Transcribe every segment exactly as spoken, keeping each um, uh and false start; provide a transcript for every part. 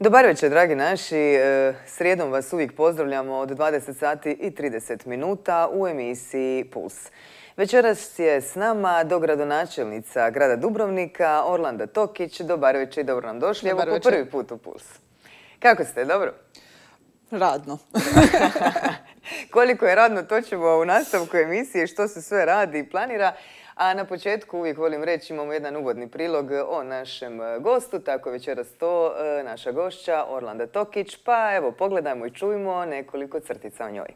Dobar večer, dragi naši. Srijedom vas uvijek pozdravljamo od dvadeset sati i trideset minuta u emisiji Puls. Večeras je s nama dogradonačelnica grada Dubrovnika, Orlanda Tokić. Dobar večer i dobro nam došli. Evo po prvi put u Puls. Kako ste, dobro? Radno. Koliko je radno, to ćemo u nastavku emisije, što se sve radi i planira. A na početku uvijek volim reći, imamo jedan uvodni prilog o našem gostu, tako večeras to naša gošća Orlanda Tokić. Pa evo, pogledajmo i čujmo nekoliko crtica o njoj.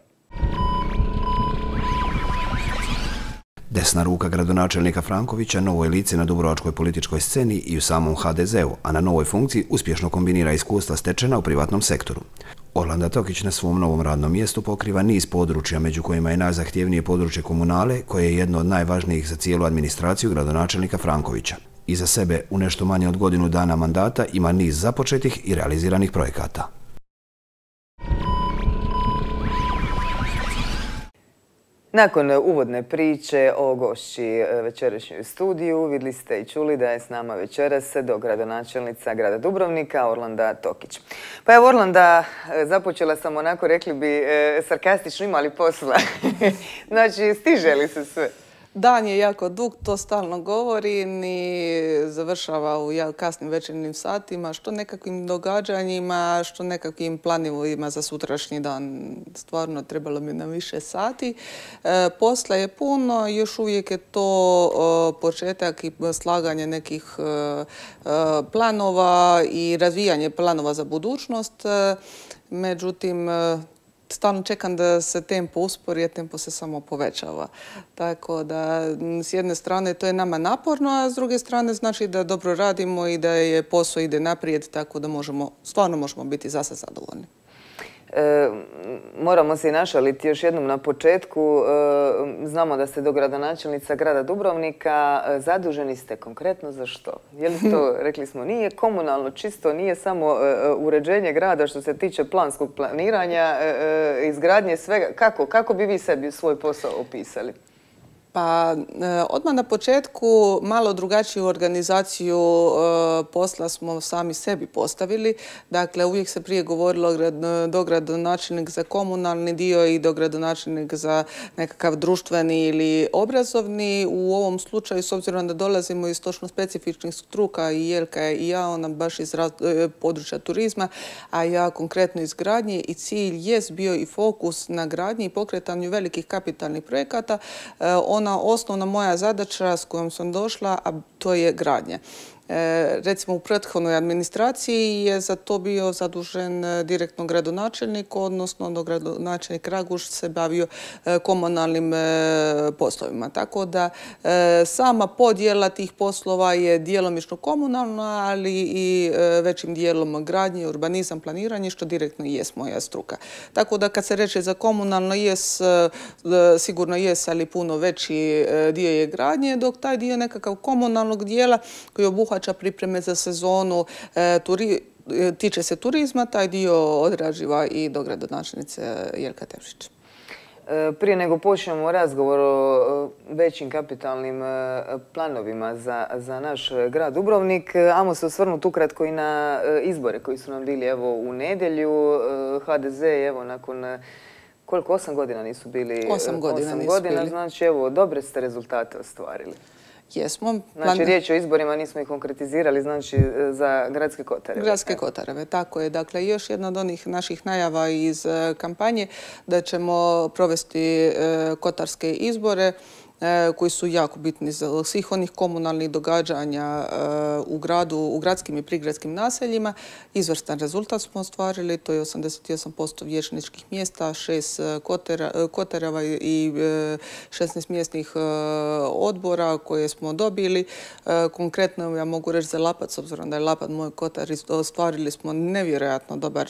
Desna ruka gradonačelnika Frankovića, novo je lice na dubrovačkoj političkoj sceni i u samom ha de zeu, a na novoj funkciji uspješno kombinira iskustva stečena u privatnom sektoru. Orlanda Tokić na svom novom radnom mjestu pokriva niz područja, među kojima je najzahtjevnije područje komunale, koje je jedno od najvažnijih za cijelu administraciju gradonačelnika Frankovića. Iza sebe, u nešto manje od godinu dana mandata, ima niz započetih i realiziranih projekata. Nakon uvodne priče o gošći večerašnjoj studiju, vidjeli ste i čuli da je s nama večeras dogradonačelnica grada Dubrovnika, Orlanda Tokić. Pa evo, Orlanda, započela sam onako, rekli bi, sarkastično, imali posla. Znači, stiže li se sve? Dan je jako dug, to stalno govorim i završava u kasnim večernjim satima, što nekakvim događanjima, što nekakvim planovima za sutrašnji dan. Stvarno trebalo mi na više sati. E, posla je puno, još uvijek je to o, početak i slaganje nekih e, planova i razvijanje planova za budućnost. E, međutim, stalno čekam da se tempo uspori, a tempo se samo povećava. Tako da, s jedne strane, to je nama naporno, a s druge strane znači da dobro radimo i da je posao ide naprijed, tako da možemo, stvarno možemo biti zase zadovoljni. E, moramo se i našaliti još jednom na početku. E, znamo da ste dogradonačelnica grada Dubrovnika. E, zaduženi ste konkretno za što? Je li to, rekli smo, nije komunalno čisto, nije samo e, uređenje grada što se tiče planskog planiranja, e, izgradnje svega. Kako? Kako bi vi sebi svoj posao opisali? Pa odmah na početku malo drugačiju organizaciju posla smo sami sebi postavili. Dakle, uvijek se prije govorilo dogradonačelnik za komunalni dio i dogradonačelnik za nekakav društveni ili obrazovni. U ovom slučaju, s obzirom da dolazimo iz točno specifičnih struka, i Jelka i ja, ona baš iz područja turizma, a ja konkretno iz gradnje, i cilj jest bio i fokus na gradnji i pokretanju velikih kapitalnih projekata. Ona osnovna moja zadaća s kojom sam došla, a to je gradnja. E, recimo u prethodnoj administraciji je za to bio zadužen direktno gradonačelnik, odnosno dogradonačelnik Raguš se bavio e, komunalnim e, poslovima. Tako da e, sama podjela tih poslova je djelomično komunalna, ali i e, većim dijelom gradnje, urbanizam, planiranje, što direktno i jest moja struka. Tako da kad se reče za komunalno, jes, e, sigurno jes, ali puno veći e, dio je gradnje, dok taj dio nekakav komunalnog dijela koji obuhvaća pripreme za sezonu, e, turi, tiče se turizma, taj dio odrađiva i dogradonačelnice Jelka Tevšić. E, prije nego počnemo razgovor o većim kapitalnim planovima za, za naš grad Dubrovnik, ajmo se osvrnuti ukratko i na izbore koji su nam bili evo u nedjelju. ha de ze evo nakon koliko, osam godina nisu bili? Osam godina osam nisu godina, bili. Znači evo, dobre ste rezultate ostvarili. Jesmo. Znači, riječ o izborima, nismo ih konkretizirali, znači za Gradske Kotareve. Gradske Kotareve, tako je. Dakle, još jedna od onih naših najava iz kampanje da ćemo provesti kotarske izbore koji su jako bitni za svih onih komunalnih događanja u gradu, u gradskim i prigradskim naseljima. Izvrstan rezultat smo ostvarili, to je osamdeset osam posto vijećničkih mjesta, šest kotareva i šesnaest mjesnih odbora koje smo dobili. Konkretno ja mogu reći za Lapac, s obzirom da je Lapac moj kotar, ostvarili smo nevjerojatno dobar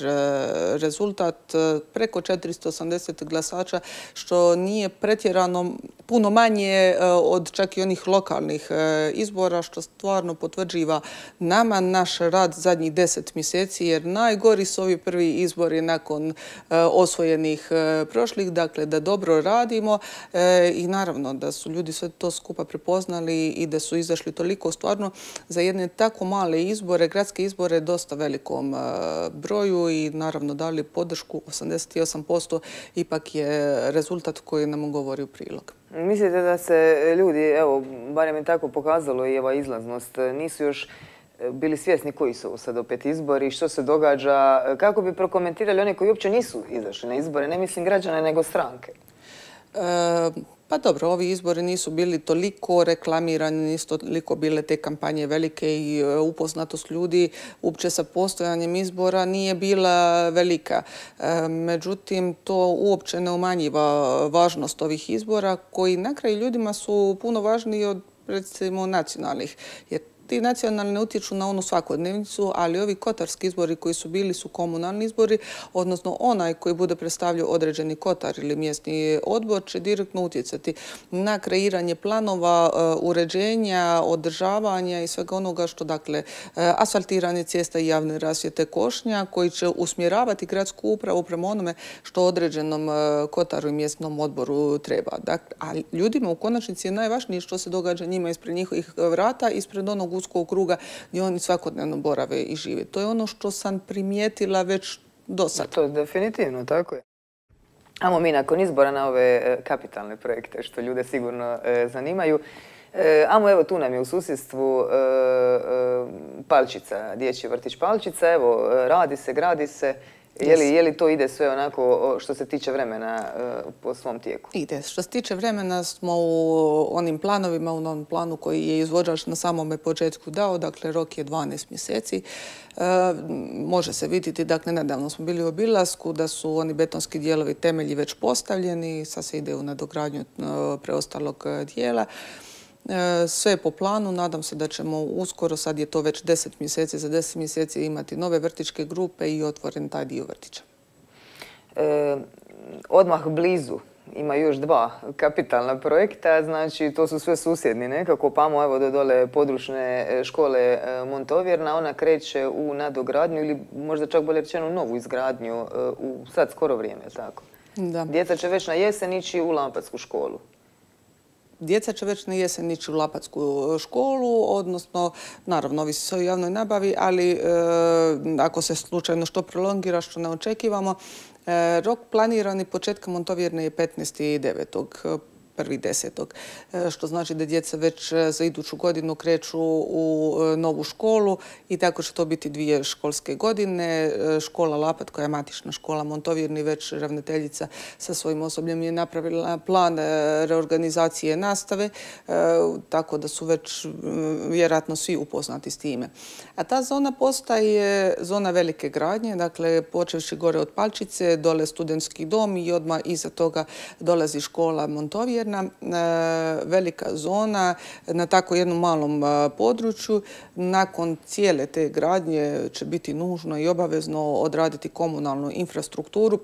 rezultat, preko četiristo osamdeset glasača, što nije pretjerano puno manje manje od čak i onih lokalnih izbora, što stvarno potvrđiva nama naš rad zadnjih deset mjeseci, jer najgori su ovi prvi izbori nakon osvojenih prošlih, dakle da dobro radimo i naravno da su ljudi sve to skupa prepoznali i da su izašli toliko stvarno za jedne tako male izbore, gradske izbore, dosta velikom broju i naravno dali podršku. Osamdeset osam posto ipak je rezultat koji nam govori u prilog. Mislite da se ljudi, evo, barem je tako pokazalo i ova izlaznost, nisu još bili svjesni koji su sad opet izbori, što se događa, kako bi prokomentirali one koji uopće nisu izašli na izbore, ne mislim građane nego stranke? E, Pa dobro, ovi izbori nisu bili toliko reklamirani, nisu toliko bile te kampanje velike i upoznatost ljudi uopće sa postojanjem izbora nije bila velika. Međutim, to uopće ne umanjiva važnost ovih izbora koji na kraju ljudima su puno važniji od recimo nacionalnih. Jer ti nacionalni ne utječu na onu svakodnevnicu, ali ovi kotarski izbori koji su bili su komunalni izbori, odnosno onaj koji bude predstavljao određeni kotar ili mjesni odbor će direktno utjecati na kreiranje planova, uređenja, održavanja i svega onoga što, dakle, asfaltiranje cesta i javne rasvjete, košnja, koji će usmjeravati gradsku upravu prema onome što određenom kotaru i mjesnom odboru treba. Dakle, a ljudima u konačnici je najvažnije što se događa njima ispred njihovih vrata, ispred onog uskog kruga gdje oni svakodnevno borave i žive. To je ono što sam primijetila već do sad. To je definitivno, tako je. Ajmo mi nakon izbora na ove kapitalne projekte što ljude sigurno zanimaju. Ajmo, evo, tu nam je u susjedstvu Palčica, dječji vrtić Palčica. Evo, radi se, gradi se. Je li to ide sve onako što se tiče vremena po svom tijeku? Ide. Što se tiče vremena smo u onim planovima, u onom planu koji je izvođač na samome početku dao, dakle rok je dvanaest mjeseci. Može se vidjeti, dakle nedavno smo bili u obilasku, da su oni betonski dijelovi temelji već postavljeni, sad se ide u nadogradnju preostalog dijela. Sve je po planu, nadam se da ćemo uskoro, sad je to već deset mjeseci, za deset mjeseci imati nove vrtičke grupe i otvoren taj dio vrtića. E, odmah blizu ima još dva kapitalna projekta, znači to su sve susjedni nekako, pamo evo do dole područne škole Montovjerna, ona kreće u nadogradnju ili možda čak bolje rečeno novu izgradnju u sad skoro vrijeme, tako? Da. Djeca će već na jesen ići u Lampatsku školu. Djeca će već na jesen ići u Lapatsku školu, odnosno, naravno, ovisi se o javnoj nabavi, ali e, ako se slučajno što prolongira, što ne očekivamo, e, rok planirani početka Montovjerne je petnaesti devetog prvi desetog što znači da djeca već za iduću godinu kreću u novu školu i tako će to biti dvije školske godine. Škola Lapat, koja je matična škola Montovjerni, već ravnateljica sa svojim osobljem je napravila plan reorganizacije nastave, tako da su već vjerojatno svi upoznati s time. A ta zona postaje zona velike gradnje, dakle počevši gore od Palčice, dole studentski dom i odmah iza toga dolazi škola Montovjerna. Velika zona na tako jednom malom području. Nakon cijele te gradnje će biti nužno i obavezno odraditi komunalnu infrastrukturu.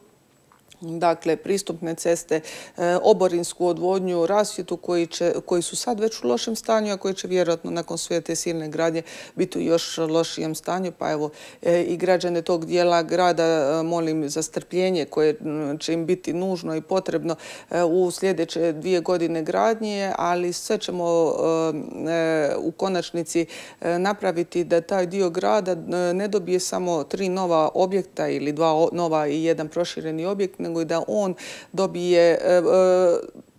Dakle, pristupne ceste, oborinsku odvodnju, rasvjetu koji, će, koji su sad već u lošem stanju, a koji će vjerojatno nakon sve te silne gradnje biti u još lošijem stanju. Pa evo, i građane tog dijela grada molim za strpljenje koje će im biti nužno i potrebno u sljedeće dvije godine gradnje, ali sve ćemo u konačnici napraviti da taj dio grada ne dobije samo tri nova objekta ili dva nova i jedan prošireni objekt, nego i da on dobije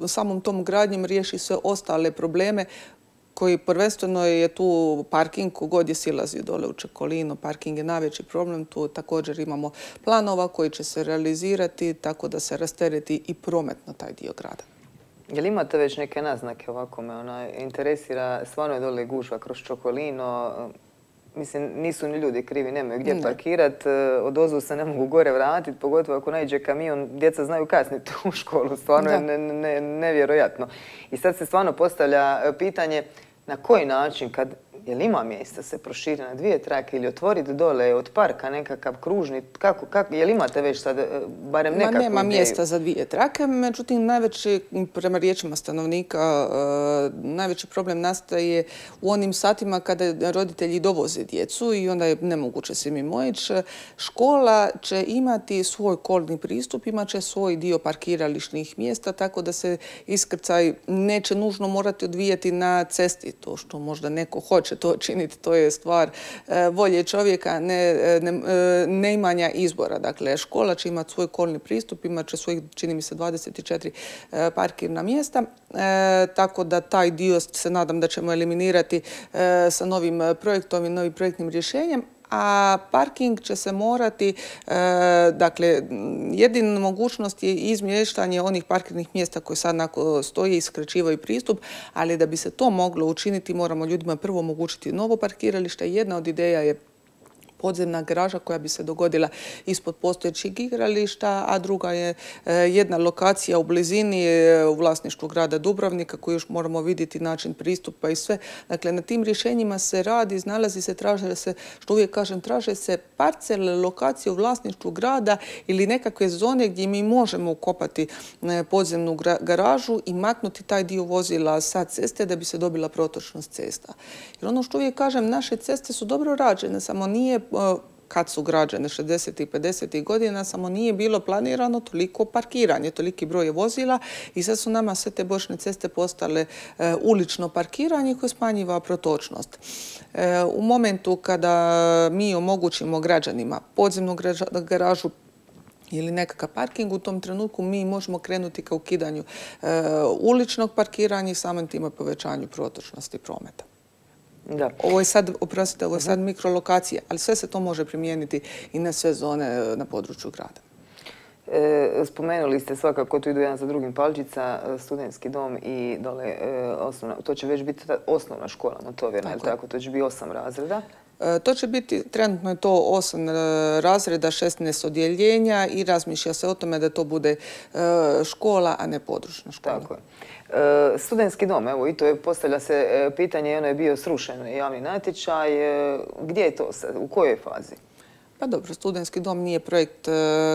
samom tom gradnjom riješi sve ostale probleme koji prvenstveno je tu parking, kogod je silazi dole u Čekolinu, parking je najveći problem, tu također imamo planova koji će se realizirati tako da se rastereti i prometno taj dio grada. Je li imate već neke naznake ovako me ona interesira, stvarno je dole gužva kroz Čokolino, mislim, nisu ni ljudi krivi, nemaju gdje parkirati, odozvu se ne mogu gore vratiti, pogotovo ako naiđe kamion, djeca znaju kasniti u školu, stvarno je ne, ne, nevjerojatno. I sad se stvarno postavlja pitanje na koji način, kad Je li ima mjesta se proširi na dvije trake ili otvoriti dole od parka nekakav kružni? Kako, kako, je li imate već sad barem nekakvu ideju? Nema mjesta za dvije trake, međutim najveći, prema riječima stanovnika, najveći problem nastaje u onim satima kada roditelji dovoze djecu i onda je nemoguće se mimo ići. Škola će imati svoj kolni pristup, imat će svoj dio parkirališnih mjesta, tako da se iskrcaj neće nužno morati odvijati na cesti. To što možda neko hoće to činiti, to je stvar volje čovjeka, ne, ne, ne imanja izbora. Dakle, škola će imati svoj kolni pristup, imat će svojih, čini mi se, dvadeset četiri parkirna mjesta, e, tako da taj dio se nadam da ćemo eliminirati e, sa novim projektom i novim projektnim rješenjem. A parking će se morati, e, dakle, jedina mogućnost je izmještanje onih parkirnih mjesta koje sad stoje i skraćivaju pristup, ali da bi se to moglo učiniti moramo ljudima prvo omogućiti novo parkiralište. Jedna od ideja je podzemna garaža koja bi se dogodila ispod postojećeg igrališta, a druga je jedna lokacija u blizini u vlasništvu grada Dubrovnika koju još moramo vidjeti način pristupa i sve. Dakle, na tim rješenjima se radi, znalazi se, traže se, što uvijek kažem, traže se parcele, lokacije u vlasništvu grada ili nekakve zone gdje mi možemo ukopati podzemnu garažu i maknuti taj dio vozila sa ceste da bi se dobila protočnost cesta. Jer ono što uvijek kažem, naše ceste su dobro rađene, samo nije kad su građene šezdesetih i pedesetih godina, samo nije bilo planirano toliko parkiranje, toliki broj vozila i sad su nama sve te bočne ceste postale e, ulično parkiranje koje smanjiva protočnost. E, u momentu kada mi omogućimo građanima podzemnu garažu ili nekakav parking, u tom trenutku mi možemo krenuti ka ukidanju e, uličnog parkiranja i samim time povećanju protočnosti prometa. Da. Ovo je sad, oprostite, ovo je sad mikrolokacija, ali sve se to može primijeniti i na sve zone na području grada. E, spomenuli ste svakako, tu idu jedan za drugim palčica, studentski dom i dole e, osnovna, to će već biti osnovna škola motovjerna, tako, tako? To će biti osam razreda. E, to će biti, trenutno je to osam razreda, šesnaest odjeljenja i razmišlja se o tome da to bude e, škola, a ne područna škola. Tako je. E, studentski dom, evo i to je, postavlja se e, pitanje, ono je bio srušen javni natječaj, e, gdje je to sad, u kojoj fazi? Pa dobro, studentski dom nije projekt e,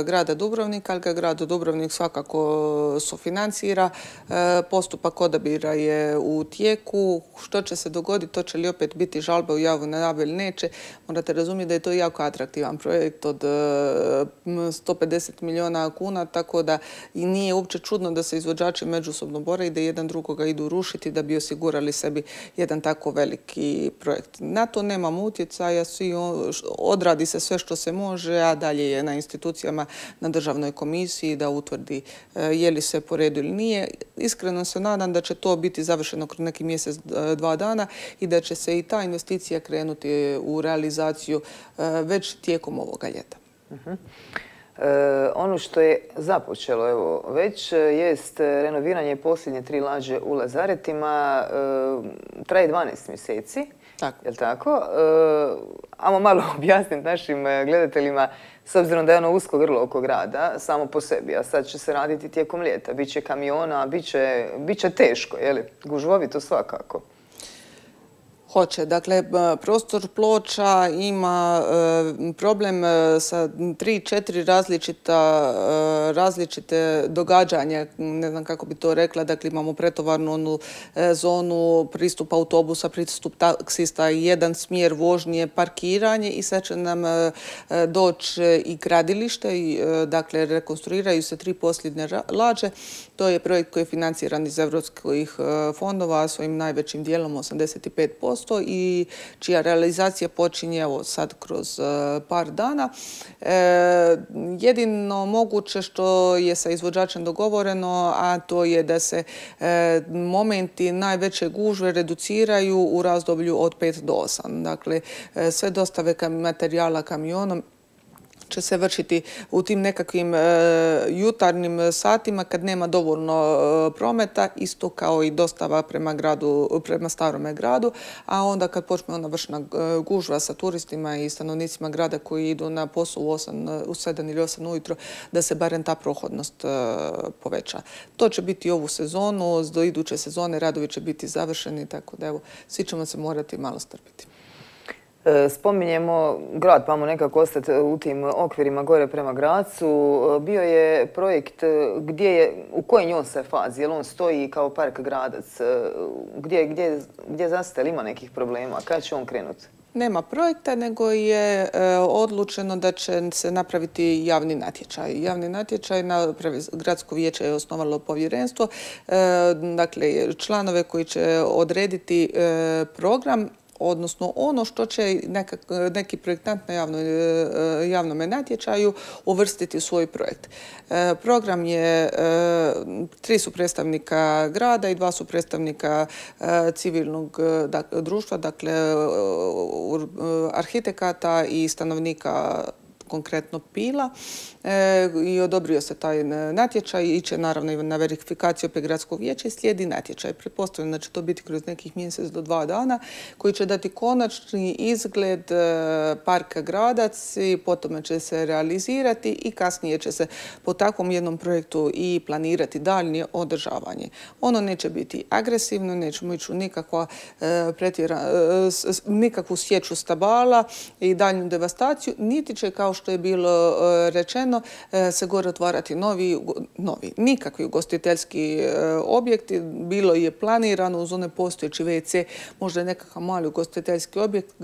grada Dubrovnika, ali ga grad Dubrovnik svakako sufinancira. E, postupak odabira je u tijeku. Što će se dogoditi, to će li opet biti žalba u javnu nabavu ili neće. Morate razumjeti da je to jako atraktivan projekt od e, sto pedeset milijuna kuna, tako da i nije uopće čudno da se izvođači međusobno bore i da jedan drugoga idu rušiti da bi osigurali sebi jedan tako veliki projekt. Na to nemamo utjecaja, svi odradi se sve što se može, a dalje je na institucijama, na državnoj komisiji da utvrdi je li sve po redu ili nije. Iskreno se nadam da će to biti završeno kroz neki mjesec, dva dana i da će se i ta investicija krenuti u realizaciju već tijekom ovoga ljeta. Uh-huh. E, ono što je započelo evo, već jest renoviranje posljednje tri lađe u Lazaretima. E, traje dvanaest mjeseci. Tako. Jel' tako? E, ajmo malo objasniti našim gledateljima, s obzirom da je ono usko grlo oko grada, samo po sebi, a sad će se raditi tijekom ljeta. Biće kamiona, biće, biće teško, je li? Gužvovito svakako. Hoće. Dakle, prostor Ploča ima e, problem sa tri, četiri različita, e, različite događanja, ne znam kako bi to rekla. Dakle, imamo pretovarnu onu e, zonu, pristup autobusa, pristup taksista, jedan smjer vožnje, parkiranje i sad će nam e, doći i gradilište. I, e, dakle, rekonstruiraju se tri posljednje lađe. To je projekt koji je financiran iz evropskih fondova svojim najvećim dijelom, osamdeset pet posto. I čija realizacija počinje evo sad kroz uh, par dana. E, jedino moguće što je sa izvođačem dogovoreno, a to je da se e, momenti najveće gužve reduciraju u razdoblju od pet do osam. Dakle, e, sve dostave kam, materijala kamionom će se vršiti u tim nekakvim jutarnjim satima kad nema dovoljno prometa, isto kao i dostava prema gradu, prema starome gradu, a onda kad počne ona vršna gužva sa turistima i stanovnicima grada koji idu na posao u, osam, u sedam ili osam ujutro, da se barem ta prohodnost poveća. To će biti ovu sezonu, do iduće sezone radovi će biti završeni, tako da evo, svi ćemo se morati malo strpiti. Spominjemo grad, pa mu nekako ostati u tim okvirima gore prema Gracu. Bio je projekt gdje je, u kojoj je on se fazi? Je li on stoji kao park Gradac? Gdje, gdje, gdje zastaje? Ima nekih problema? Kada će on krenuti? Nema projekta, nego je e, odlučeno da će se napraviti javni natječaj. Javni natječaj, na, gradsko vijeće je osnovalo povjerenstvo, e, dakle članove koji će odrediti e, program, odnosno ono što će nekak, neki projektant na javno, javnom natječaju uvrstiti u svoj projekt. E, program je, e, tri su predstavnika grada i dva su predstavnika e, civilnog dak, društva, dakle e, arhitekata i stanovnika konkretno Pila, e, i odobrio se taj natječaj, iće naravno i na verifikaciju opet gradskog vijeća i slijedi natječaj. Pretpostavljam da će to biti kroz nekih mjesec do dva dana koji će dati konačni izgled e, parka Gradac i potom će se realizirati i kasnije će se po takvom jednom projektu i planirati daljnje održavanje. Ono neće biti agresivno, nećemo ići u nikakva, e, pretjera, e, s, nikakvu sječu stabala i daljnju devastaciju, niti će, kao što je bilo rečeno, se gore otvarati novi, novi, nikakvi ugostiteljski objekti. Bilo je planirano uz one postojeći ve ce, možda nekakav mali ugostiteljski objekt,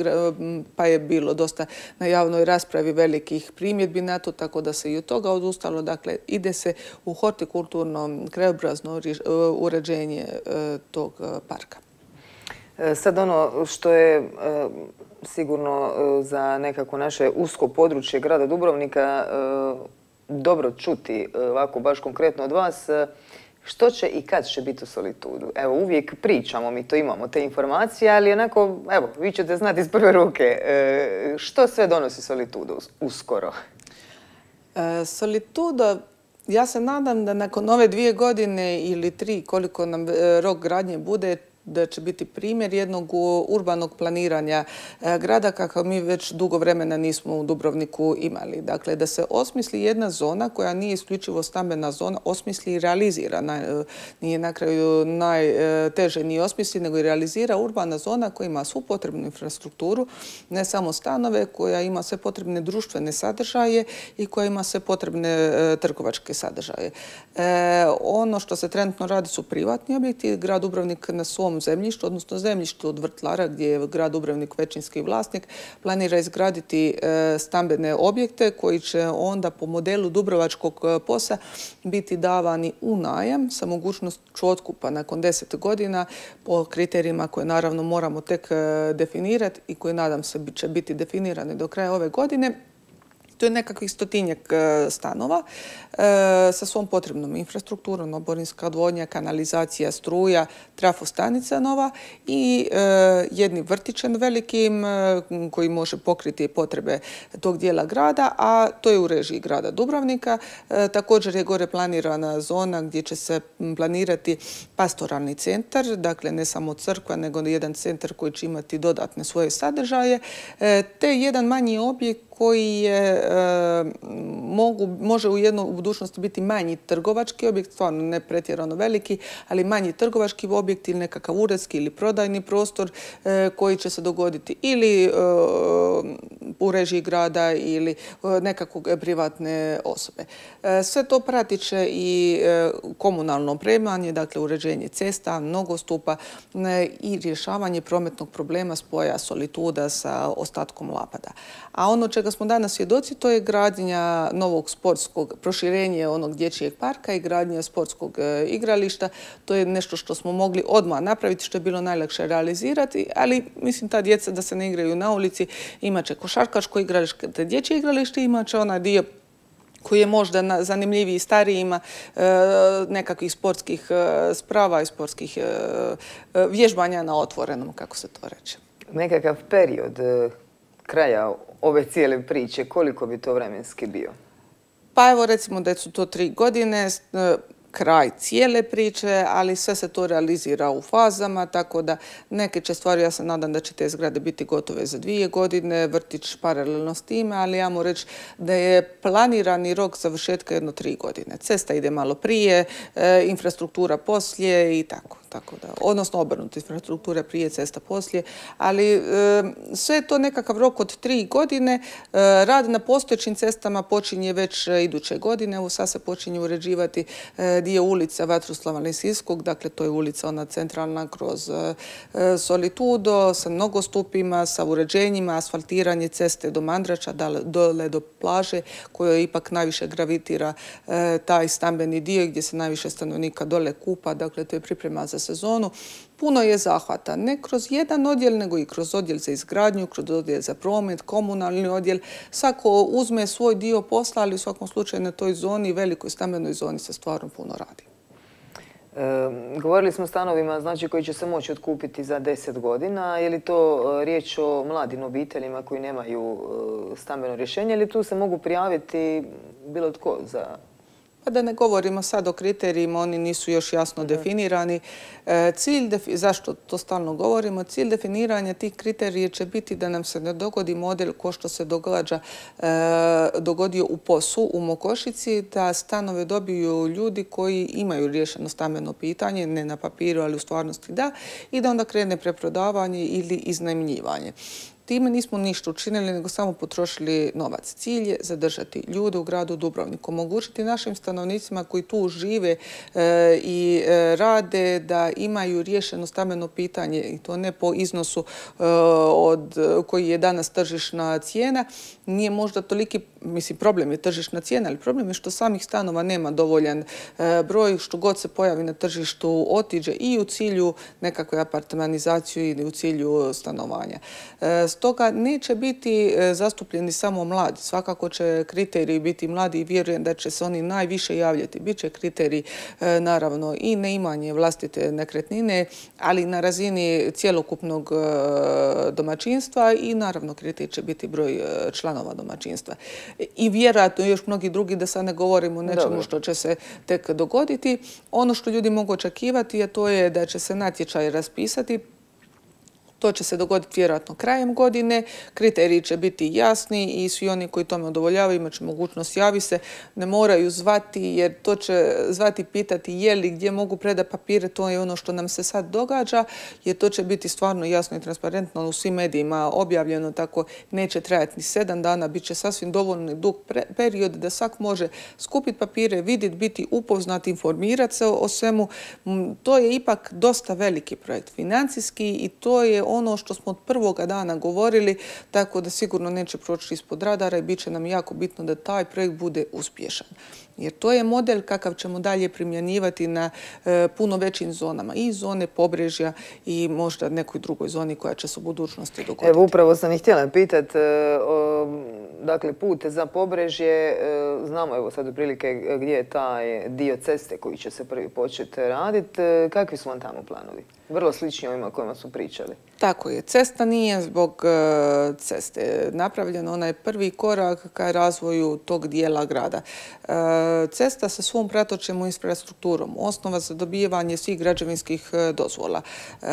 pa je bilo dosta na javnoj raspravi velikih primjedbi na to, tako da se i od toga odustalo. Dakle, ide se u hortikulturno, krajobrazno uređenje tog parka. Sad ono što je sigurno za nekako naše usko područje grada Dubrovnika dobro čuti, ovako baš konkretno od vas, što će i kad će biti u Solitudu? Evo, uvijek pričamo, mi to imamo, te informacije, ali onako, evo, vi ćete znati iz prve ruke, što sve donosi Solitudu uskoro? Solituda, ja se nadam da nakon ove dvije godine ili tri, koliko nam rok gradnje bude, da će biti primjer jednog urbanog planiranja grada kakav mi već dugo vremena nismo u Dubrovniku imali. Dakle, da se osmisli jedna zona koja nije isključivo stambena zona, osmisli i realizira. Nije na kraju najteže nije osmisli, nego i realizira urbana zona koja ima svu potrebnu infrastrukturu, ne samo stanove, koja ima sve potrebne društvene sadržaje i koja ima sve potrebne trgovačke sadržaje. E, ono što se trenutno radi su privatni objekti. Grad Dubrovnik na svom zemljištu, odnosno zemljištu od Vrtlara, gdje je grad Dubrovnik većinski vlasnik, planira izgraditi stambene objekte koji će onda po modelu Dubrovačkog posa biti davani u najam sa mogućnošću otkupa nakon deset godina po kriterijima koje naravno moramo tek definirati i koje nadam se će biti definirani do kraja ove godine. To je nekakvih stotinjak stanova sa svom potrebnom infrastrukturom, oborinska odvodnja, kanalizacija, struja, trafostanica nova i jednim vrtićem velikim koji može pokriti potrebe tog dijela grada, a to je u režiji grada Dubrovnika. Također je gore planirana zona gdje će se planirati pastoralni centar, dakle ne samo crkva, nego jedan centar koji će imati dodatne svoje sadržaje, te jedan manji objekt koji je, e, mogu, može u jednoj budućnosti biti manji trgovački objekt, stvarno ne pretjerano veliki, ali manji trgovački objekt ili nekakav uredski ili prodajni prostor e, koji će se dogoditi ili e, u režiji grada ili e, nekakvog privatne osobe. E, sve to pratit će i e, komunalno opremanje, dakle uređenje cesta, nogostupa e, i rješavanje prometnog problema spoja Solituda sa ostatkom Lapada. A ono čega smo danas svjedoci, to je gradnja novog sportskog, proširenje onog dječjeg parka i gradnja sportskog e, igrališta. To je nešto što smo mogli odmah napraviti, što je bilo najlakše realizirati, ali mislim ta djeca da se ne igraju na ulici, imat će košarkaško igralište, dječje igralište, imat će onaj dio koji je možda zanimljiviji starijima, e, nekakvih sportskih e, sprava i sportskih e, vježbanja na otvorenom, kako se to reče. Nekakav period kraja ove cijele priče, koliko bi to vremenski bio? Pa evo recimo da su to tri godine, kraj cijele priče, ali sve se to realizira u fazama, tako da neke će stvari, ja se nadam da će te zgrade biti gotove za dvije godine, vrtić paralelno s time, ali ja moram reći da je planirani rok završetka jedno tri godine. Cesta ide malo prije, e, infrastruktura poslije i tako. Tako da, odnosno obrnuto, infrastruktura prije, cesta poslije, ali e, sve je to nekakav rok od tri godine. E, rad na postojećim cestama počinje već iduće godine. Evo sad se počinje uređivati e, dio ulica Vatroslava Lisinskog, dakle to je ulica ona centralna kroz e, Solitudo, sa nogostupima, sa uređenjima, asfaltiranje ceste do Mandrača, dole do plaže, koja ipak najviše gravitira e, taj stambeni dio gdje se najviše stanovnika dole kupa, dakle to je priprema za sezonu. Puno je zahvata, ne kroz jedan odjel, nego i kroz odjel za izgradnju, kroz odjel za promet, komunalni odjel. Svako uzme svoj dio posla, ali u svakom slučaju na toj zoni, velikoj stambenoj zoni se stvarno puno radi. E, govorili smo o stanovima, znači, koji će se moći otkupiti za deset godina. Je li to riječ o mladim obiteljima koji nemaju stambeno rješenje ili tu se mogu prijaviti bilo tko za... Pa da ne govorimo sad o kriterijima, oni nisu još jasno definirani. Cilj, zašto to stalno govorimo, cilj definiranja tih kriterija će biti da nam se ne dogodi model ko što se događa, dogodio u P O S-u, u Mokošici, da stanove dobiju ljudi koji imaju riješeno stambeno pitanje, ne na papiru, ali u stvarnosti da, i da onda krene preprodavanje ili iznajmljivanje. Time nismo ništa učinili, nego samo potrošili novac. Cilj je zadržati ljude u gradu Dubrovniku, omogućiti našim stanovnicima koji tu žive e, i e, rade da imaju riješeno stambeno pitanje i to ne po iznosu e, od koji je danas tržišna cijena. Nije možda toliki, mislim, problem je tržišna cijena, ali problem je što samih stanova nema dovoljan e, broj, što god se pojavi na tržištu otiđe i u cilju nekakve apartmanizacije ili u cilju stanovanja. E, Stoga neće biti zastupljeni samo mladi. Svakako će kriteriji biti mladi i vjerujem da će se oni najviše javljati. Biće kriteriji, naravno, i neimanje vlastite nekretnine, ali na razini cjelokupnog domaćinstva i naravno kriterij će biti broj članova domaćinstva. I vjerojatno još mnogi drugi, da sad ne govorimo o nečemu što će se tek dogoditi. Ono što ljudi mogu očekivati je to je da će se natječaj raspisati. To će se dogoditi vjerojatno krajem godine, kriteriji će biti jasni i svi oni koji tome udovoljavaju imat će mogućnost javi se, ne moraju zvati jer to će zvati pitati je li gdje mogu predati papire, to je ono što nam se sad događa jer to će biti stvarno jasno i transparentno u svim medijima objavljeno, tako neće trajati ni sedam dana, bit će sasvim dovoljno dug period da svak može skupiti papire, vidjeti, biti upoznat, informirati se o svemu. To je ipak dosta veliki projekt financijski i to je ono što smo od prvoga dana govorili, tako da sigurno neće proći ispod radara i bit će nam jako bitno da taj projekt bude uspješan. Jer to je model kakav ćemo dalje primjenjivati na e, puno većim zonama. I zone Pobrežja i možda nekoj drugoj zoni koja će se u budućnosti dogoditi. Evo, upravo sam ih htjela pitati. E, dakle, put za Pobrežje, e, znamo evo sad otprilike gdje je taj dio ceste koji će se prvi početi raditi. E, kakvi su vam tamo planovi? Vrlo slični ovima o kojima su pričali. Tako je. Cesta nije zbog uh, ceste napravljena. Ona je prvi korak ka razvoju tog dijela grada. Uh, cesta sa svom pratočnom infrastrukturom, osnova za dobivanje svih građevinskih uh, dozvola. Uh,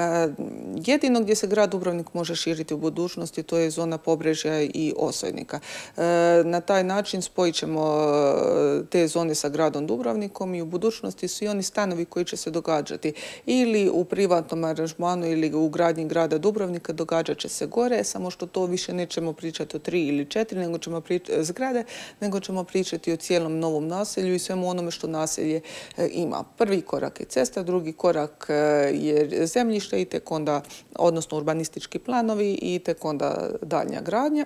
jedino gdje se grad Dubrovnik može širiti u budućnosti, to je zona Pobrežja i Osojnika. Uh, na taj način spojit ćemo uh, te zone sa gradom Dubrovnikom i u budućnosti svi oni stanovi koji će se događati ili u privatnom aranžmanu ili u gradnji grada Dubrovnika događat će se gore, samo što to više nećemo pričati o tri ili četiri nego ćemo pričati, zgrade, nego ćemo pričati o cijelom novom naselju i svemu onome što naselje e, ima. Prvi korak je cesta, drugi korak e, je zemljište i tek onda, odnosno urbanistički planovi i tek onda daljnja gradnja.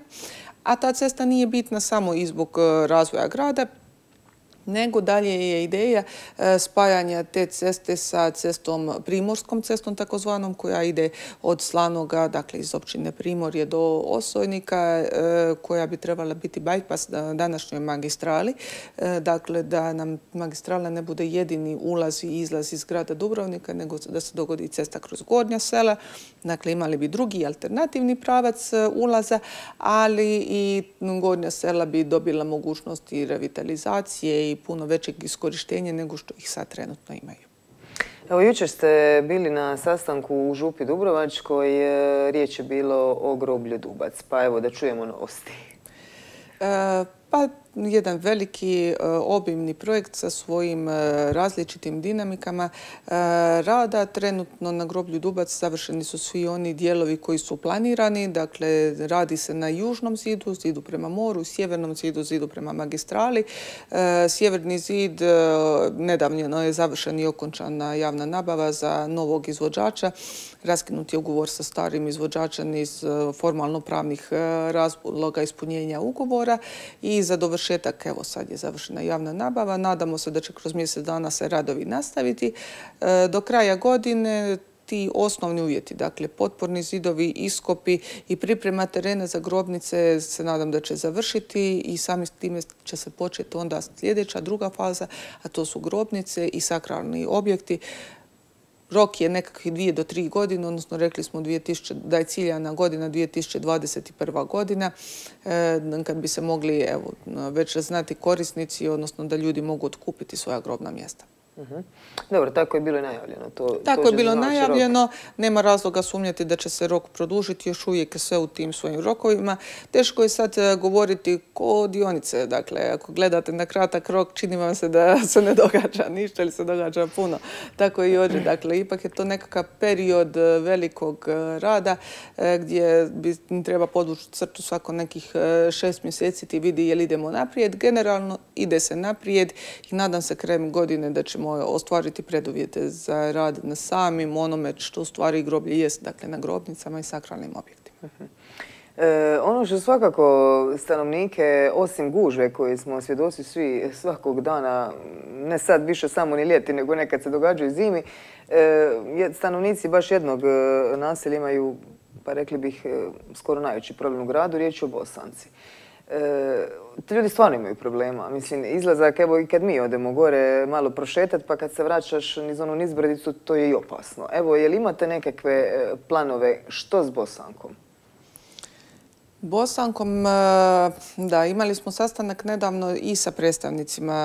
A ta cesta nije bitna samo i zbog razvoja grada, nego dalje je ideja spajanja te ceste sa cestom, primorskom cestom takozvanom, koja ide od Slanoga, dakle iz općine Primorje do Osojnika, koja bi trebala biti bypass današnjoj magistrali. Dakle, da nam magistrala ne bude jedini ulaz i izlaz iz grada Dubrovnika, nego da se dogodi cesta kroz gornja sela. Dakle, imali bi drugi alternativni pravac ulaza, ali i gornja sela bi dobila mogućnost i revitalizacije i puno većeg iskorištenja nego što ih sad trenutno imaju. Evo, jučer ste bili na sastanku u Župi Dubrovačkoj, riječ je bilo o groblju Dubac, pa evo da čujemo novosti. E, pa jedan veliki obimni projekt sa svojim različitim dinamikama rada. Trenutno na groblju Dubac završeni su svi oni dijelovi koji su planirani. Dakle, radi se na južnom zidu, zidu prema moru, sjevernom zidu, zidu prema magistrali. Sjeverni zid nedavno je završen i okončana javna nabava za novog izvođača. Raskinut je ugovor sa starim izvođačem iz formalno pravnih razloga ispunjenja ugovora i za dovršetak, evo sad je završena javna nabava. Nadamo se da će kroz mjesec dana se radovi nastaviti. Do kraja godine ti osnovni uvjeti, dakle potporni zidovi, iskopi i priprema terena za grobnice se nadam da će završiti i sami s time će se početi onda sljedeća druga faza, a to su grobnice i sakralni objekti. Rok je nekakvih dvije do tri godine, odnosno rekli smo da je ciljana godina dvije tisuće dvadeset prva godina, kad bi se mogli evo, već znati korisnici, odnosno da ljudi mogu otkupiti svoja grobna mjesta. Dobro, tako je bilo i najavljeno. Tako je bilo najavljeno. Nema razloga sumnjati da će se rok produžiti, još uvijek sve u tim svojim rokovima. Teško je sad govoriti ko dionice. Dakle, ako gledate na kratak rok, čini vam se da se ne događa ništa ili se događa puno. Tako i ovdje. Dakle, ipak je to nekakav period velikog rada gdje bi treba podvući crtu svako nekih šest mjeseci ti vidi jel idemo naprijed. Generalno ide se naprijed i nadam se krajem godine da ćemo ostvariti preduvjete za rad na samim onome što u stvari groblje jest, dakle na grobnicama i sakralnim objektima. E, ono što svakako stanovnike, osim gužve koje smo svjedoci svi svakog dana, ne sad više samo ni ljeti, nego nekad se događaju zimi, e, stanovnici baš jednog naselja imaju, pa rekli bih, skoro najveći problem u gradu, riječ je o Bosanci. E, ljudi stvarno imaju problema. Mislim, izlazak, evo i kad mi odemo gore malo prošetati, pa kad se vraćaš niz onu nizbrdicu, to je i opasno. Evo, je li imate nekakve planove što s Bosankom? Bosankom, da, imali smo sastanak nedavno i sa predstavnicima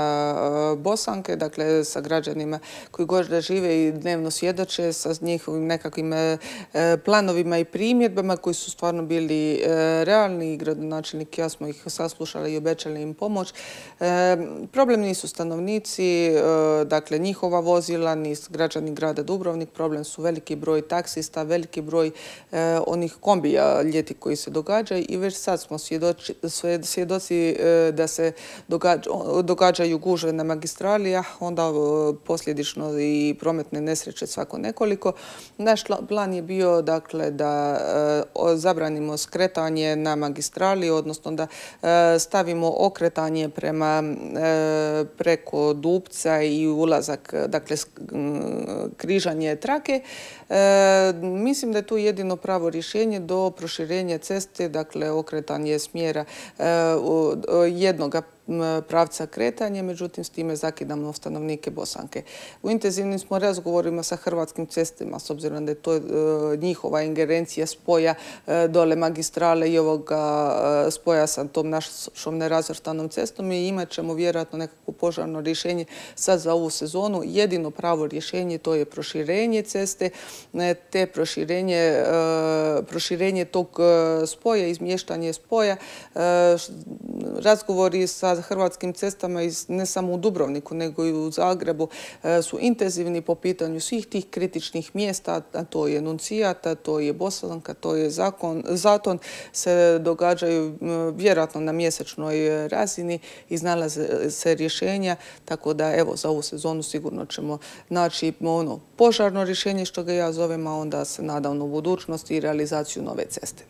Bosanke, dakle sa građanima koji gore žive i dnevno svjedoče sa njihovim nekakvim planovima i primjedbama koji su stvarno bili realni. Gradonačelnik i ja smo ih saslušali i obećali im pomoć. Problem nisu stanovnici, dakle njihova vozila, ni građani grada Dubrovnik. Problem su veliki broj taksista, veliki broj onih kombija ljeti koji se događaju. I već sad smo svjedoci, svjedoci da se događa, događaju gužve na magistrali, a onda posljedično i prometne nesreće svako nekoliko. Naš plan je bio dakle, da zabranimo skretanje na magistrali, odnosno da stavimo okretanje prema preko Dupca i ulazak, dakle križanje trake. Mislim da je tu jedino pravo rješenje do proširenja ceste, dakle okretanje smjera jednoga pravca kretanja, međutim s time zakidamo stanovnike Bosanke. U intenzivnim smo razgovorima sa Hrvatskim cestama, s obzirom da je to njihova ingerencija spoja dole magistrale i ovoga spoja sa tom našom nerazvrstanom cestom i imat ćemo vjerojatno nekako požarno rješenje sad za ovu sezonu. Jedino pravo rješenje to je proširenje ceste, te proširenje, proširenje tog spoja, izmještanje spoja, razgovori sa Hrvatskim cestama ne samo u Dubrovniku nego i u Zagrebu su intenzivni po pitanju svih tih kritičnih mjesta, a to je Nuncijat, a to je Bosanka, to je Zaton, se događaju vjerojatno na mjesečnoj razini, iznalaze se rješenja, tako da evo za ovu sezonu sigurno ćemo naći ono požarno rješenje što ga ja zovem, a onda se nadam u budućnosti i realizaciju nove ceste.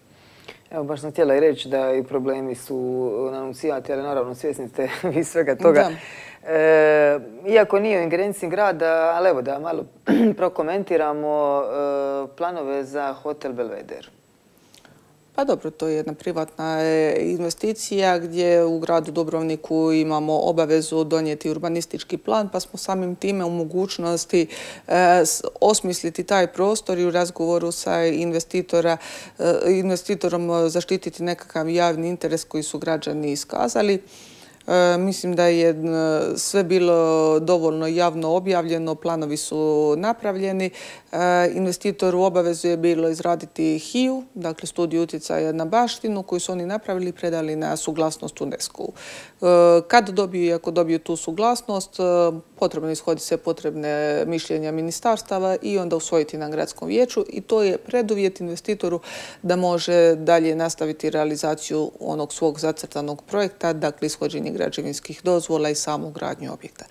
Evo, baš sam htjela i reći da i problemi su na Anunciati, ali naravno svjesni ste vi svega toga. E, iako nije u ingerenciji grada, ali evo da malo prokomentiramo e, planove za hotel Belvedere. Pa dobro, to je jedna privatna investicija gdje u gradu Dubrovniku imamo obavezu donijeti urbanistički plan, pa smo samim time u mogućnosti e, osmisliti taj prostor i u razgovoru sa investitora, e, investitorom zaštititi nekakav javni interes koji su građani iskazali. E, mislim da je sve bilo dovoljno javno objavljeno, planovi su napravljeni. E, investitor u obavezu je bilo izraditi H I U, dakle studiju utjecaja na baštinu, koju su oni napravili i predali na suglasnost UNESCO-u. E, kad dobiju i ako dobiju tu suglasnost, e, potrebno ishoditi sve potrebne mišljenja ministarstava i onda usvojiti na gradskom vijeću i to je preduvjet investitoru da može dalje nastaviti realizaciju onog svog zacrtanog projekta, dakle ishođenje građevinskih dozvola i samu gradnju objekta.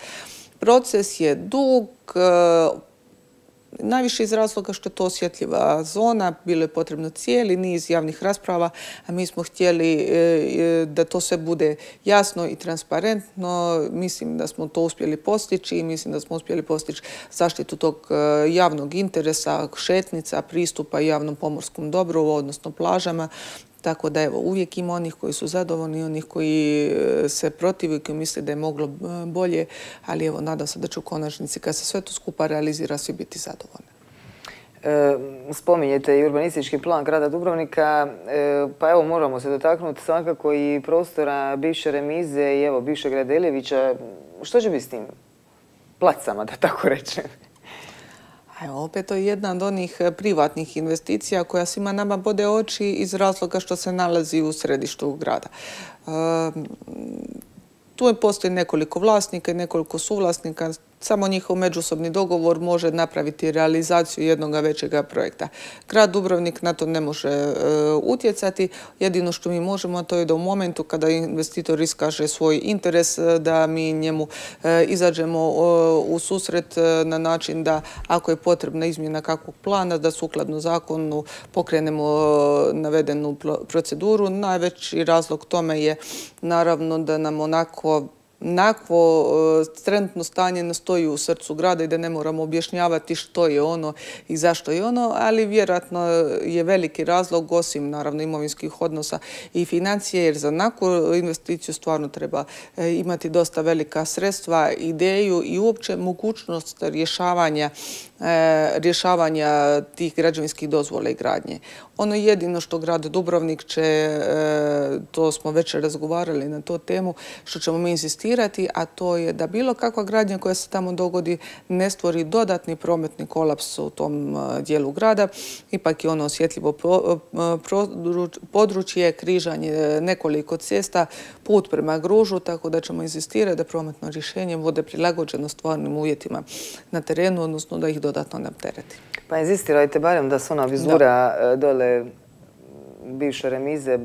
Proces je dug, najviše iz razloga što je to osjetljiva zona, bilo je potrebno cijeli niz javnih rasprava, a mi smo htjeli da to sve bude jasno i transparentno. Mislim da smo to uspjeli postići i mislim da smo uspjeli postići zaštitu tog javnog interesa, šetnica, pristupa javnom pomorskom dobru, odnosno plažama. Tako da evo, uvijek ima onih koji su zadovoljni i onih koji se protive i koji misle da je moglo bolje, ali evo, nadam se da će u konačnici, kad se sve to skupa realizira, svi biti zadovoljni. E, spominjete i urbanistički plan grada Dubrovnika, e, pa evo, moramo se dotaknuti svakako i prostora bivše remize i evo, bivšeg Radeljevića. Što će biti s tim placama, da tako rečem? Evo, opet to je jedna od onih privatnih investicija koja svima nama bode oči iz razloga što se nalazi u središtu grada. Tu postoji nekoliko vlasnika i nekoliko suvlasnika. Samo njihov međusobni dogovor može napraviti realizaciju jednog većega projekta. Grad Dubrovnik na to ne može e, utjecati. Jedino što mi možemo, to je da u momentu kada investitor iskaže svoj interes, da mi njemu e, izađemo e, u susret e, na način da ako je potrebna izmjena kakvog plana, da sukladno zakonu pokrenemo e, navedenu proceduru. Najveći razlog tome je naravno da nam onako Nakvo trenutno stanje ne stoji u srcu grada i da ne moramo objašnjavati što je ono i zašto je ono, ali vjerojatno je veliki razlog, osim naravno imovinskih odnosa i financije, jer za nakvu investiciju stvarno treba imati dosta velika sredstva, ideju i uopće mogućnost rješavanja rješavanja tih građevinskih dozvola i gradnje. Ono jedino što grad Dubrovnik će, to smo već razgovarali na tu temu, što ćemo mi insistirati, a to je da bilo kakva gradnja koja se tamo dogodi ne stvori dodatni prometni kolaps u tom dijelu grada. Ipak je ono osjetljivo područje, križanje nekoliko cesta, put prema Gružu, tako da ćemo insistirati da prometno rješenje bude prilagođeno stvarnim uvjetima na terenu, odnosno da ih dodatno ne optereti. Pa inzistirajte barem da se ona vizura da. dole bivše remize,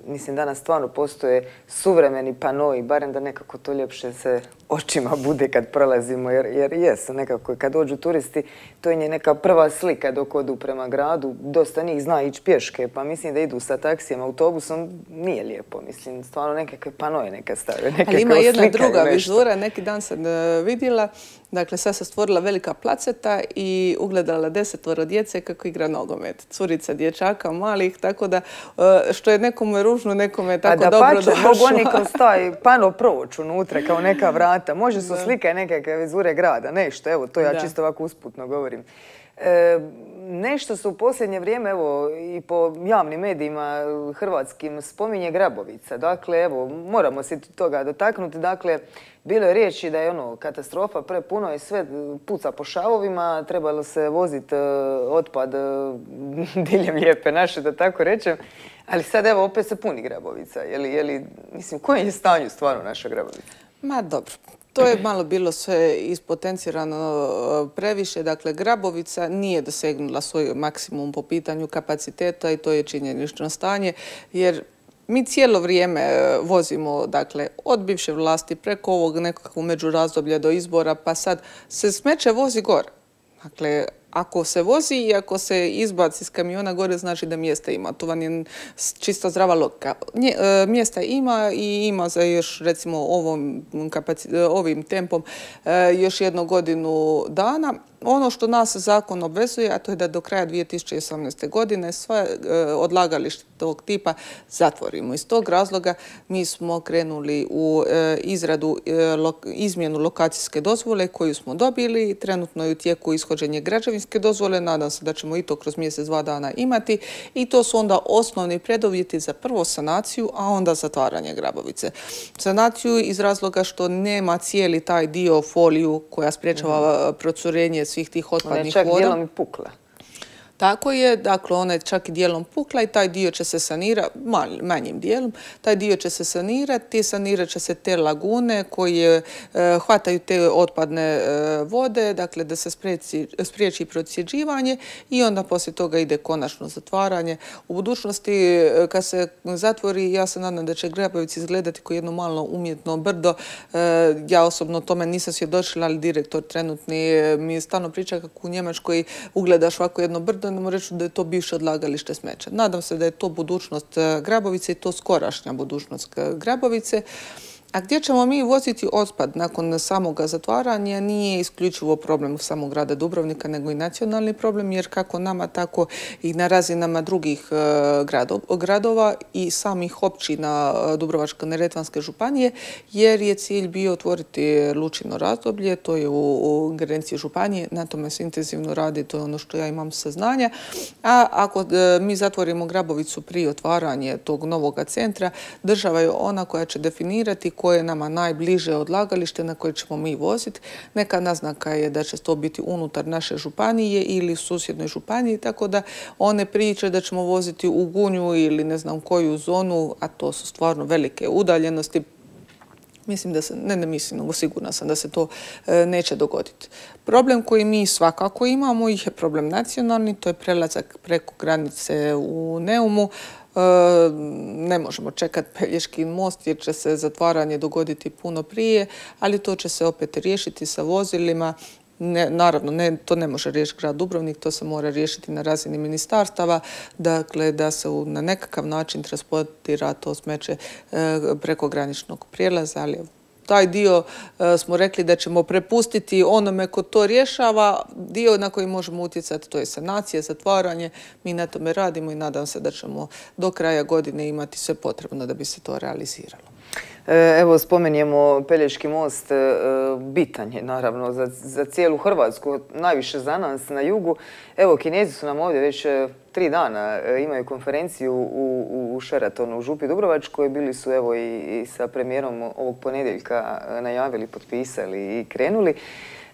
mislim danas stvarno postoje suvremeni panoi, barem da nekako to ljepše se očima bude kad prolazimo, jer, jer jesu nekako kad dođu turisti, to je neka prva slika dok odu prema gradu, dosta njih zna ići pješke, pa mislim da idu sa taksijem, autobusom, nije lijepo, mislim, stvarno nekakve panoje neka stave. Ali ima jedna druga vizura, neki dan sam vidjela, dakle sad se stvorila velika placeta i ugledala desetvoro djece kako igra nogomet, curica dječaka malih, tako da što je nekome ružno, nekome je tako dobro došlo. A da pače, mogu oni kroz taj pano proći unutra kao neka vrata. Može su slike nekakve vizure grada, nešto, evo, to ja da. čisto ovako usputno govorim. E, nešto su u posljednje vrijeme, evo, i po javnim medijima hrvatskim spominje Grabovica. Dakle, evo, moramo se toga dotaknuti. Dakle, bilo je riječi da je ono katastrofa, prepuno i sve puca po šavovima, trebalo se voziti uh, otpad uh, diljem lijepe naše, da tako rečem. Ali sad, evo, opet se puni Grabovica. Je li, je li, mislim, koji je stanju stvarno naša Grabovica? Ma dobro. To je malo bilo sve ispotencirano previše. Dakle, Grabovica nije dosegnula svoj maksimum po pitanju kapaciteta i to je činjenično stanje, jer mi cijelo vrijeme vozimo, dakle, od bivše vlasti preko ovog nekakvog međurazdoblja do izbora, pa sad se smeće vozi gore. Dakle, ako se vozi i ako se izbaci iz kamiona gore, znači da mjesta ima. To vam je čista zdrava logika. Mjesta ima i ima za još, recimo, ovom ovim tempom još jednu godinu dana. Ono što nas zakon obvezuje, a to je da do kraja dvije tisuće osamnaeste. godine sve odlagalište tog tipa zatvorimo. Iz tog razloga mi smo krenuli u izradu, izmjenu lokacijske dozvole koju smo dobili. Trenutno je u tijeku ishođenje građevinske dozvole. Nadam se da ćemo i to kroz mjesec, dva dana imati. I to su onda osnovni preduvjeti za prvo sanaciju, a onda zatvaranje Grabovice. Sanaciju iz razloga što nema cijeli taj dio foliju koja spriječava procurenje svih tih otpadnih voda. Ona je čak dijelom i pukla. Tako je, dakle ona je čak i dijelom pukla i taj dio će se sanirati, manjim dijelom, taj dio će se sanirati, sanirat će se te lagune koje e, hvataju te otpadne e, vode, dakle da se spriječi, spriječi procjeđivanje i onda poslije toga ide konačno zatvaranje. U budućnosti kad se zatvori, ja se nadam da će Grabovic izgledati kao jedno malo umjetno brdo. E, ja osobno tome nisam svjedočila, ali direktor trenutni mi je stalno priča kako u Njemačkoj ugledaš ovako jedno brdo, ne reći da je to bivše odlagalište smeća. Nadam se da je to budućnost Grabovice i to skorašnja budućnost Grabovice. A gdje ćemo mi voziti otpad nakon samoga zatvaranja nije isključivo problem samog grada Dubrovnika, nego i nacionalni problem, jer kako nama, tako i na razinama drugih gradova i samih općina Dubrovačko-neretvanske županije, jer je cilj bio otvoriti lučino razdoblje, to je u ingerenciji županije, na tome se intenzivno radi, to je ono što ja imam saznanja. A ako mi zatvorimo Grabovicu prije otvaranja tog novog centra, država je ona koja će definirati koje je nama najbliže odlagalište na koje ćemo mi voziti. Neka naznaka je da će to biti unutar naše županije ili u susjednoj županiji, tako da one priče da ćemo voziti u Gunju ili ne znam koju zonu, a to su stvarno velike udaljenosti, mislim da se, ne, ne mislim, nego sigurna sam da se to e, neće dogoditi. Problem koji mi svakako imamo je problem nacionalni, to je prelazak preko granice u Neumu. Ne možemo čekati Pelješki most jer će se zatvaranje dogoditi puno prije, ali to će se opet riješiti sa vozilima. Ne, naravno, ne, to ne može riješiti grad Dubrovnik, to se mora riješiti na razini ministarstava, dakle da se u, na nekakav način transportira to smeće e, preko graničnog prijelaza, ali taj dio e, smo rekli da ćemo prepustiti onome ko to rješava. Dio na koji možemo utjecati to je sanacija, zatvaranje. Mi na tome radimo i nadam se da ćemo do kraja godine imati sve potrebno da bi se to realiziralo. Evo, spomenjemo Pelješki most, bitan je naravno za, za cijelu Hrvatsku, najviše za nas na jugu. Evo, Kinezi su nam ovdje već tri dana, imaju konferenciju u, u Sheratonu u Župi Dubrovačkoj. Bili su evo i, i sa premijerom ovog ponedjeljka najavili, potpisali i krenuli.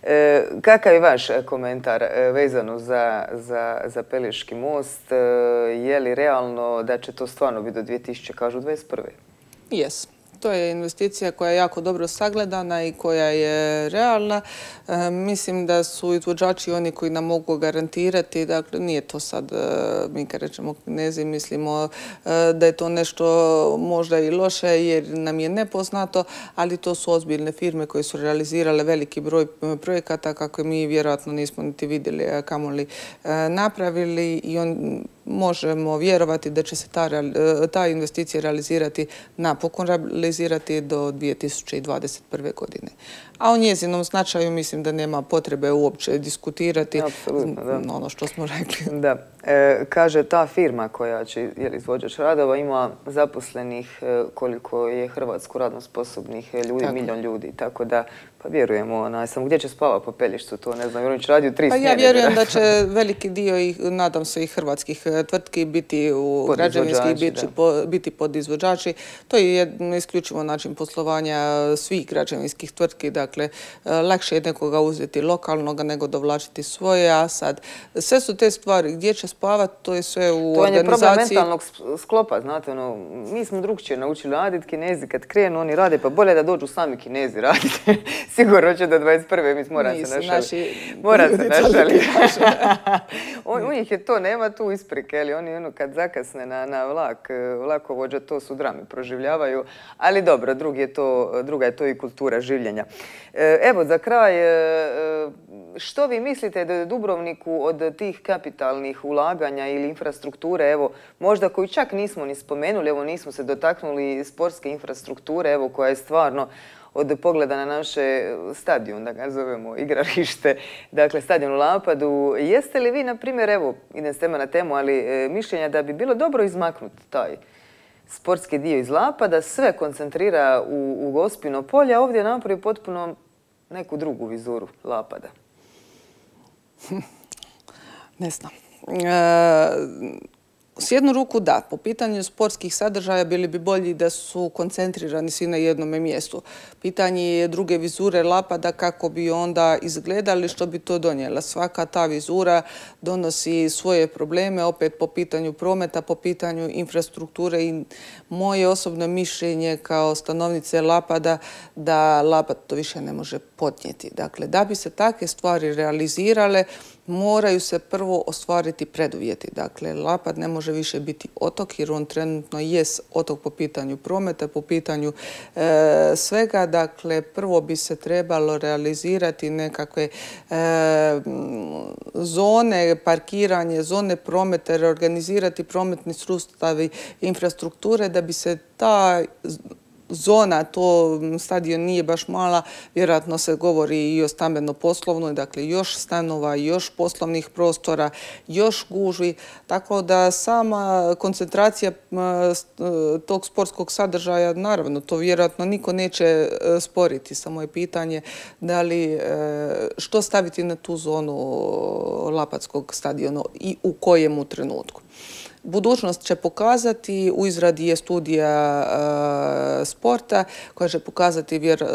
E, kakav je vaš komentar vezano za, za, za Pelješki most? E, je li realno da će to stvarno biti do dvije tisuće dvadeset prve? Jes. To je investicija koja je jako dobro sagledana i koja je realna. E, mislim da su izvođači oni koji nam mogu garantirati. Dakle, nije to sad, e, mi kad rečemo Kinezi, mislimo e, da je to nešto možda i loše jer nam je nepoznato, ali to su ozbiljne firme koje su realizirale veliki broj projekata kako mi vjerojatno nismo niti vidjeli kamoli e, napravili i on možemo vjerovati da će se ta, ta investicija realizirati, napokon realizirati do dvije tisuće dvadeset prve. godine. A o njezinom značaju mislim da nema potrebe uopće diskutirati. Apsolutno, da. Ono što smo rekli. Da. E, kaže, ta firma koja će, je li izvođač radova, ima zaposlenih e, koliko je Hrvatsko radno sposobnih ljudi, tako. Milion ljudi. Tako da, pa vjerujemo, na, samo gdje će spava po Pelješcu, to ne znam, jer on će radio tri smjene. Pa ja vjerujem da će veliki dio, i nadam se, i hrvatskih tvrtki biti u građevinskih, biti, po, biti podizvođači. To je jedno isključivo način poslovanja svih građevinskih tvrtki. Dakle, lakše je nekoga uzeti lokalnoga nego dovlačiti svoje, a sad sve su te stvari gdje će spavati, to je sve u organizaciji. To je organizaciji. problem mentalnog sklopa, znate, ono, mi smo drugčije naučili raditi, Kinezi kad krenu, oni rade, pa bolje da dođu sami Kinezi raditi. Sigurno će do dvadeset prve mi mora se našali. Mora se našali. U njih je to, nema tu isprike, ali oni ono, kad zakasne na, na vlak, vlakovođa, to su drame proživljavaju, ali dobro, drugi je to, druga je to i kultura življenja. Evo, za kraj, što vi mislite da je Dubrovniku od tih kapitalnih ulaganja ili infrastrukture, evo, možda koju čak nismo ni spomenuli, evo, nismo se dotaknuli sportske infrastrukture, evo, koja je stvarno od pogleda na naše stadion, da ga zovemo igralište, dakle stadion u Lapadu. Jeste li vi, na primjer, evo, idem s tema na temu, ali mišljenja da bi bilo dobro izmaknuti taj sportski dio iz Lapada, sve koncentrira u, u Gospino polje, a ovdje napravi potpuno neku drugu vizuru Lapada? Ne znam. E, s jednu ruku da, po pitanju sportskih sadržaja bili bi bolji da su koncentrirani svi na jednome mjestu. Pitanje je druge vizure Lapada kako bi onda izgledali, što bi to donijela. Svaka ta vizura donosi svoje probleme, opet po pitanju prometa, po pitanju infrastrukture i moje osobno mišljenje kao stanovnice Lapada da Lapad to više ne može podnijeti. Dakle, da bi se takve stvari realizirale, moraju se prvo ostvariti preduvjeti. Dakle, Lapad ne može više biti otok jer on trenutno jest otok po pitanju prometa, po pitanju e, svega. Dakle, prvo bi se trebalo realizirati nekakve e, zone, parkiranje, zone prometa, reorganizirati prometni sustavi infrastrukture da bi se ta zona, to stadion nije baš mala, vjerojatno se govori i o stambeno-poslovnoj, dakle još stanova, još poslovnih prostora, još gužvi, tako da sama koncentracija tog sportskog sadržaja, naravno, to vjerojatno niko neće sporiti, samo je pitanje da li, što staviti na tu zonu Lapadskog stadiona i u kojemu trenutku. Budućnost će pokazati, u izradi je studija e, sporta koja će pokazati vjer, e,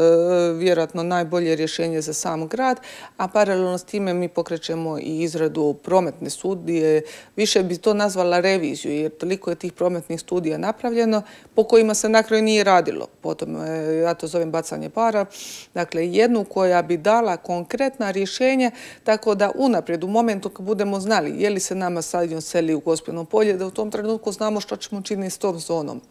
vjerojatno najbolje rješenje za sam grad, a paralelno s time mi pokrećemo i izradu prometne studije. Više bi to nazvala reviziju jer toliko je tih prometnih studija napravljeno po kojima se na kraju nije radilo. Potom e, ja to zovem bacanje para. Dakle, jednu koja bi dala konkretna rješenja tako da unaprijed u momentu kad budemo znali je li se nama stadion seli u Gospino polje, da u tom trenutku znamo što ćemo činiti s tom zonom.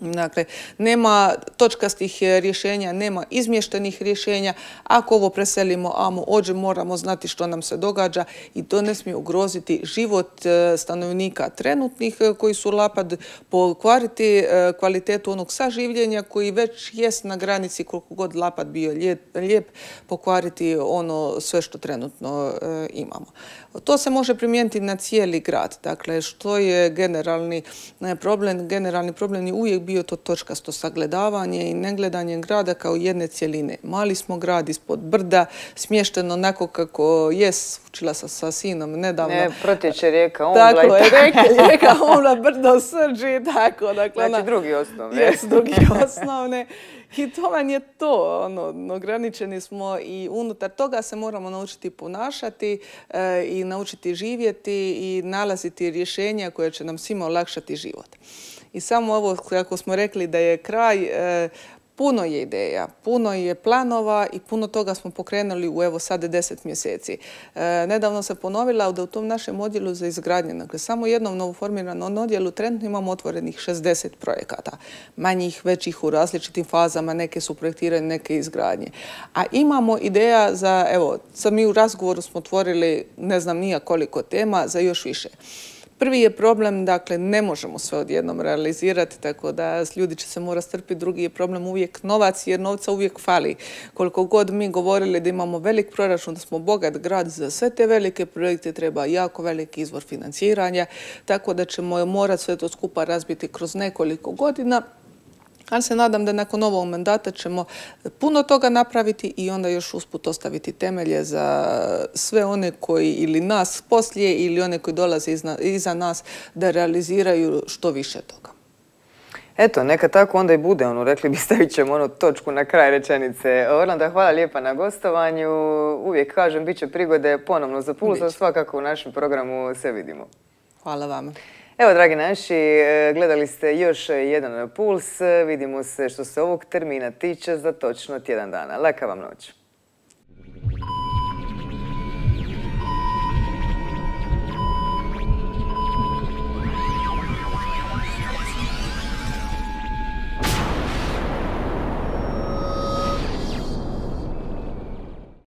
Dakle, nema točkastih rješenja, nema izmještenih rješenja. Ako ovo preselimo, amo ođe, moramo znati što nam se događa i to ne smije ugroziti život stanovnika trenutnih koji su Lapad, pokvariti kvalitetu onog saživljenja koji već jest na granici koliko god Lapad bio lijep, lijep pokvariti ono sve što trenutno imamo. To se može primijeniti na cijeli grad. Dakle, što je generalni problem? Generalni problem je uvijek bio to točkasto sagledavanje i negledanje grada kao jedne cjeline. Mali smo grad ispod brda, smješteno onako kako jest, učila sam sa sinom nedavno. Ne, protječe rijeka Ombla. Tako je, rijeka Ombla, brdo Srđi, tako. Dakle, znači drugi osnovne. Jes, drugi osnovne. I to vam je to, ono, ograničeni smo i unutar toga se moramo naučiti ponašati e, i naučiti živjeti i nalaziti rješenja koje će nam svima olakšati život. I samo ovo, kako smo rekli da je kraj, e, puno je ideja, puno je planova i puno toga smo pokrenuli u evo sad deset mjeseci. E, nedavno se ponovila da u tom našem odjelu za izgradnje, dakle samo jednom novoformiranom odjelu trenutno imamo otvorenih šezdeset projekata. Manjih, većih u različitim fazama, neke su projektirane, neke izgradnje. A imamo ideja za, evo, sad mi u razgovoru smo otvorili ne znam nija koliko tema za još više. Prvi je problem, dakle, ne možemo sve odjednom realizirati, tako da ljudi će se morati strpiti. Drugi je problem uvijek novac, jer novca uvijek fali. Koliko god mi govorili da imamo velik proračun, da smo bogat grad, za sve te velike projekte treba jako veliki izvor financiranja, tako da ćemo morati sve to skupa razbiti kroz nekoliko godina. Ali se nadam da nakon ovog mandata ćemo puno toga napraviti i onda još usput ostaviti temelje za sve one koji ili nas poslije ili one koji dolaze iza nas da realiziraju što više toga. Eto, neka tako onda i bude, ono, rekli bi stavit ćemo ono točku na kraj rečenice. Orlanda, hvala lijepa na gostovanju. Uvijek kažem, bit će prigode ponovno za Puls, a svakako u našem programu se vidimo. Hvala vama. Evo, dragi naši, gledali ste još jedan Puls. Vidimo se što se ovog termina tiče za točno tjedan dana. Laka vam noć.